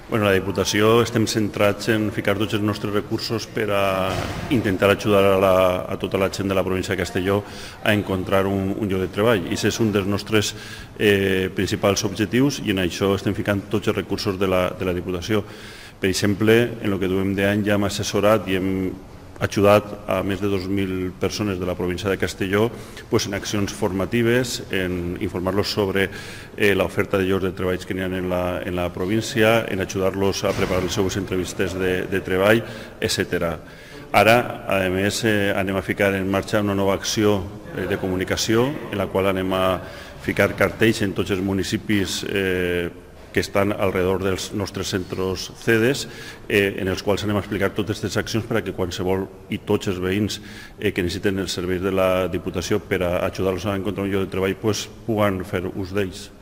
La Diputació estem centrats en ficar tots els nostres recursos per a intentar ajudar a tota la gent de la província de Castelló a encontrar un lloc de treball. I aquest és un dels nostres principals objectius i en això estem ficant tots els recursos de la Diputació. Per exemple, en el que duem d'any ja hem assessorat i hem ajudat a més de 2.000 persones de la província de Castelló en accions formatives, en informar-los sobre l'oferta de llocs de treball que n'hi ha en la província, en ajudar-los a preparar les seves entrevistes de treball, etc. Ara, a més, anem a ficar en marxa una nova acció de comunicació en la qual anem a ficar cartells en tots els municipis que estan alrededor dels nostres centres CEDES, en els quals anem a explicar totes aquestes accions per a que qualsevol i tots els veïns que necessiten els serveis de la Diputació per a ajudar-los a encontrar un lloc de treball puguen fer ús d'ells.